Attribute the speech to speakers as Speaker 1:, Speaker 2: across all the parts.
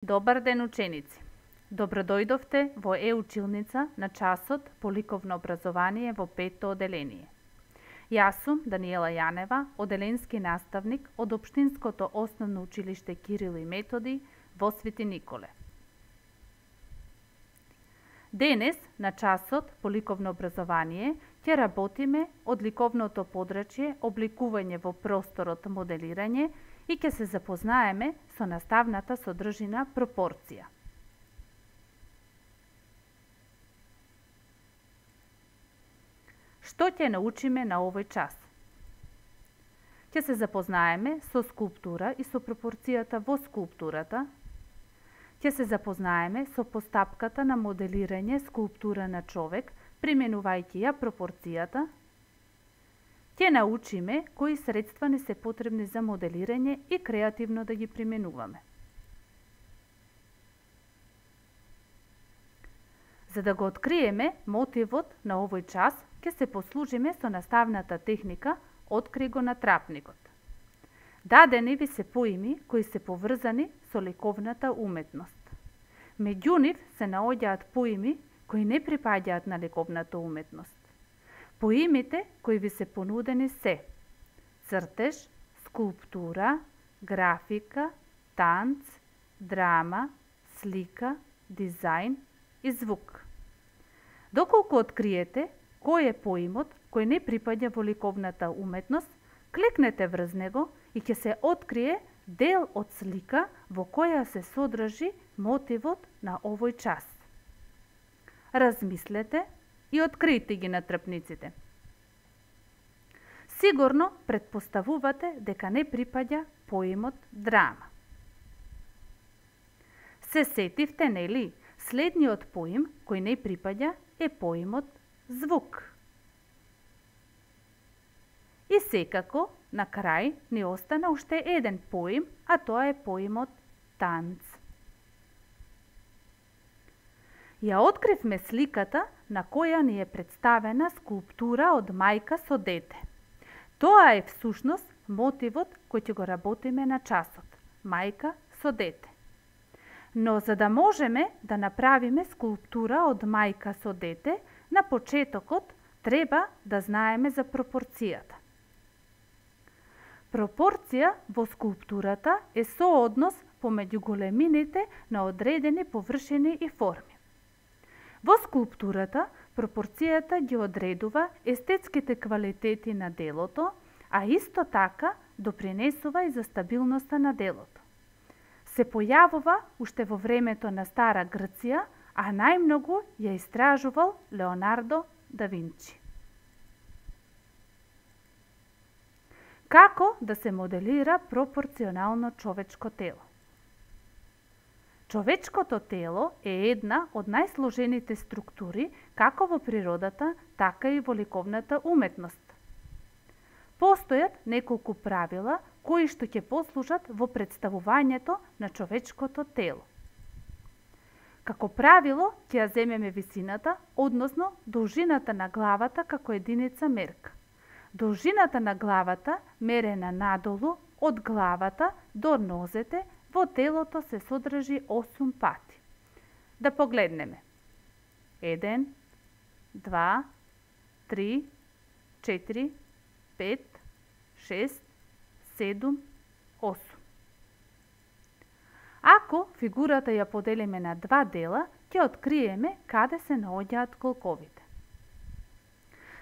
Speaker 1: Добар ден, ученици! Добродојдовте во Е-училница на часот по ликовно образование во 5-то оделение. Јас сум Даниела Јанева, оделенски наставник од Општинското основно училиште Кирил и Методи во Свети Николе. Денес, на часот по ликовно образование, ќе работиме од ликовното подрачје обликување во просторот моделирање и ќе се запознаеме со наставната содржина пропорција. Што ќе научиме на овој час? Ќе се запознаеме со скулптура и со пропорцијата во скулптурата. Ќе се запознаеме со постапката на моделирање скулптура на човек, применувајќи ја пропорцијата. Ќе научиме кои средства не се потребни за моделирање и креативно да ги применуваме. За да го откриеме мотивот на овој час, ќе се послужиме со наставната техника "Откри го на трапникот". Дадени ви се поими кои се поврзани со ликовната уметност. Меѓу нив се наоѓаат поими кои не припаѓаат на ликовната уметност. Поимите кои ви се понудени се цртеж, скулптура, графика, танц, драма, слика, дизајн и звук. Доколку откриете кој е поимот кој не припаѓа во ликовната уметност, клекнете врз него и ќе се открие дел од слика во која се содржи мотивот на овој час. Размислете и откријте ги на трпниците. Сигурно претпоставувате дека не припаѓа поимот драма. Се сетивте, нели, следниот поим кој не припаѓа е поимот звук. И секако, на крај, ни остана уште еден поим, а тоа е поимот танц. Ја откривме сликата на која ни е представена скулптура од мајка со дете. Тоа е всушност мотивот кој ќе го работиме на часот. Мајка со дете. Но за да можеме да направиме скулптура од мајка со дете, на почетокот треба да знаеме за пропорцијата. Пропорција во скулптурата е сооднос помеѓу големините на одредени површини и форми. Во скулптурата пропорцијата ги одредува естетските квалитети на делото, а исто така допринесува и за стабилноста на делото. Се појавува уште во времето на Стара Грција, а најмногу ја истражувал Леонардо да Винчи. Како да се моделира пропорционално човечко тело? Човечкото тело е една од најсложените структури како во природата, така и во ликовната уметност. Постојат неколку правила кои што ќе послужат во представувањето на човечкото тело. Како правило ќе ја земеме висината, односно должината на главата како единица мерка. Должината на главата, мерена надолу од главата до нозете, во телото се содржи 8 пати. Да погледнеме. 1, 2, 3, 4, 5, 6, 7, 8. Ако фигурата ја поделиме на два дела, ќе откриеме каде се наоѓаат колковите.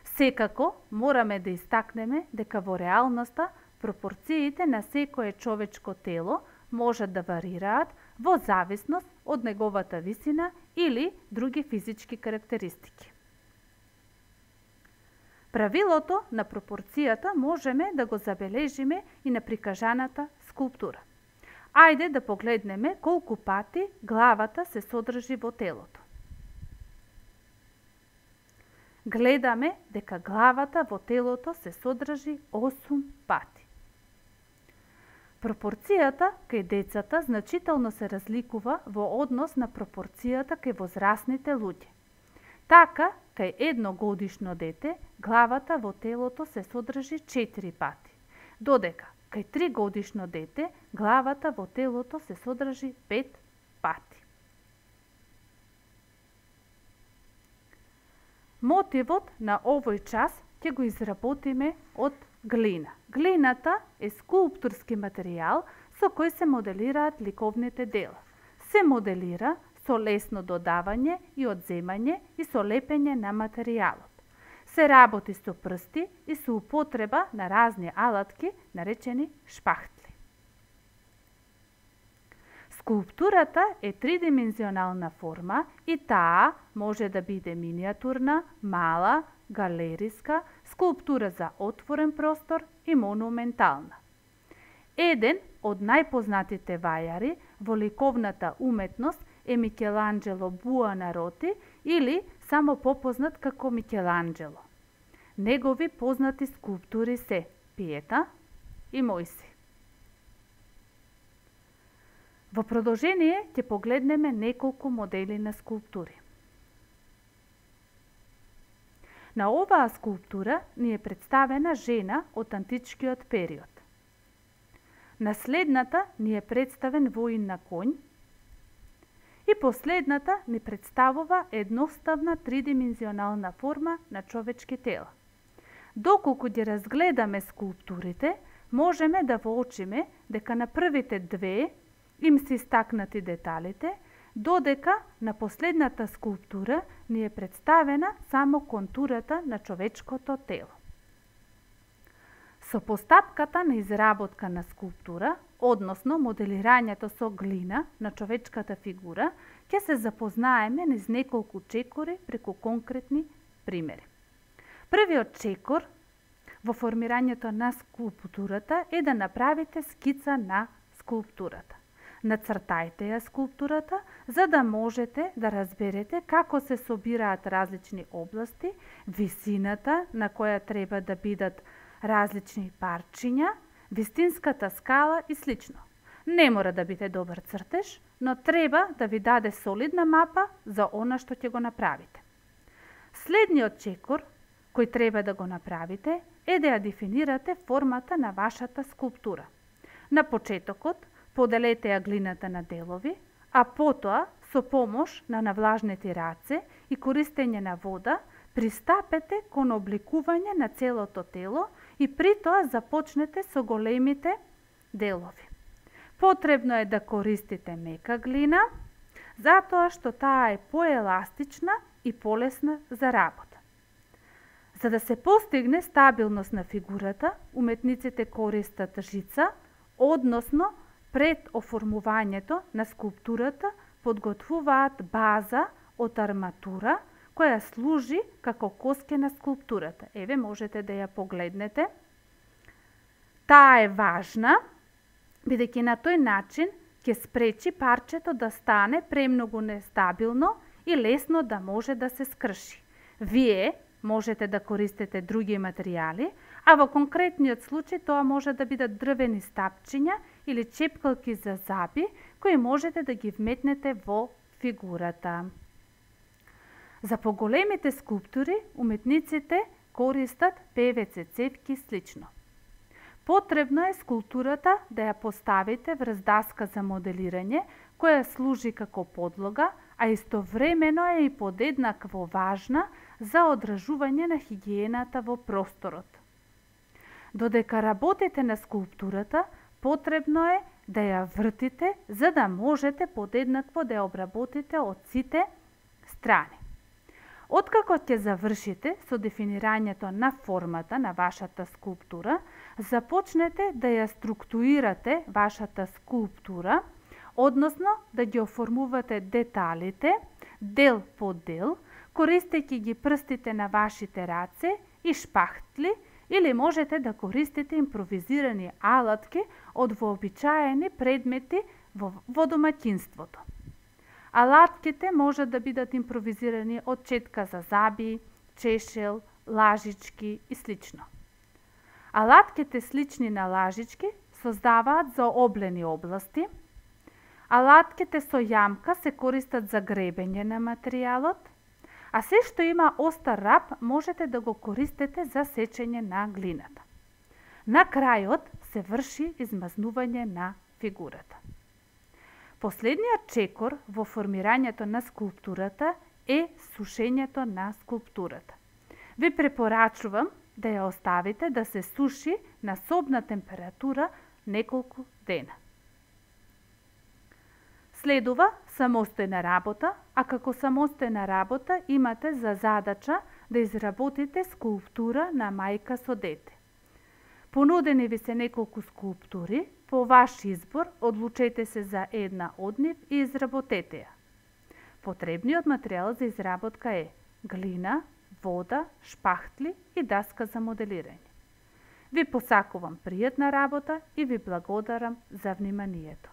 Speaker 1: Секако мораме да истакнеме дека во реалноста пропорциите на секое човечко тело можат да варираат во зависност од неговата висина или други физички карактеристики. Правилото на пропорцијата можеме да го забележиме и на прикажаната скулптура. Ајде да погледнеме колку пати главата се содржи во телото. Гледаме дека главата во телото се содржи 8 пати. Пропорцијата кај децата значително се разликува во однос на пропорцијата кај возрастните луѓе. Така, кај едногодишно дете, главата во телото се содржи 4 пати, додека кај 3-годишно дете, главата во телото се содржи 5 Мотивот на овој час ќе го изработиме од глина. Глината е скулптурски материјал со кој се моделираат ликовните дела. Се моделира со лесно додавање и одземање и со лепење на материјалот. Се работи со прсти и со употреба на разни алатки, наречени шпахтли. Скулптурата е тридимензионална форма и таа може да биде миниатурна, мала, галериска, скулптура за отворен простор и монументална. Еден од најпознатите вајари во ликовната уметност е Микеланџело Буонароти или само попознат како Микеланџело. Негови познати скулптури се Пиета и Мојси. Во продолжение ќе погледнеме неколку модели на скулптури. На оваа скулптура ни е представена жена од античкиот период. На следната ни е представен воин на конј и последната ни представува едноставна тридимензионална форма на човечки тела. Доколку ги разгледаме скулптурите, можеме да воочиме дека на првите две им се истакнати деталите, додека на последната скулптура ни е представена само контурата на човечкото тело. Со постапката на изработка на скулптура, односно моделирањето со глина на човечката фигура, ќе се запознаеме низ неколку чекори преку конкретни примери. Првиот чекор во формирањето на скулптурата е да направите скица на скулптурата. Нацртајте ја скулптурата, за да можете да разберете како се собираат различни области, висината на која треба да бидат различни парчиња, вистинската скала и слично. Не мора да биде добар цртеж, но треба да ви даде солидна мапа за она што ќе го направите. Следниот чекор кој треба да го направите е да ја дефинирате формата на вашата скулптура. На почетокот поделете ја глината на делови, а потоа со помош на навлажнети раце и користење на вода пристапете кон обликување на целото тело и при тоа започнете со големите делови. Потребно е да користите мека глина, затоа што таа е поеластична и полесна за работа. За да се постигне стабилност на фигурата, уметниците користат жица, односно пред оформувањето на скулптурата подготвуваат база од арматура која служи како коске на скулптурата. Еве, можете да ја погледнете. Таа е важна, бидејќи на тој начин ќе спречи парчето да стане премногу нестабилно и лесно да може да се скрши. Вие можете да користите други материјали, а во конкретниот случај тоа може да бидат дрвени стапчиња или чепкалки за заби, кои можете да ги вметнете во фигурата. За поголемите скулптури, уметниците користат ПВЦ цевки слично. Потребно е скулптурата да ја поставите врз даска за моделирање, која служи како подлога, а истовремено е и подеднакво важна за одражување на хигиената во просторот. Додека работите на скулптурата, потребно е да ја вртите, за да можете подеднакво да ја обработите од сите страни. Откако ќе завршите со дефинирањето на формата на вашата скулптура, започнете да ја структурирате вашата скулптура, односно да ги оформувате деталите, дел по дел, користејќи ги прстите на вашите раце и шпахтли, или можете да користите импровизирани алатки од вообичаени предмети во домаќинството. Алатките може да бидат импровизирани од четка за заби, чешел, лажички и слично. Алатките слични на лажички создаваат заоблени области. Алатките со јамка се користат за гребење на материјалот, а се што има остар рап можете да го користите за сечење на глината. На крајот се врши измазнување на фигурата. Последниот чекор во формирањето на скулптурата е сушењето на скулптурата. Ви препорачувам да ја оставите да се суши на собна температура неколку дена. Следува самостојна работа, а како самостојна работа имате за задача да изработите скулптура на мајка со дете. Понудени ви се неколку скулптури, по ваш избор одлучете се за една од нив и изработете ја. Потребниот материјал за изработка е глина, вода, шпахтли и даска за моделирање. Ви посакувам пријатна работа и ви благодарам за вниманието.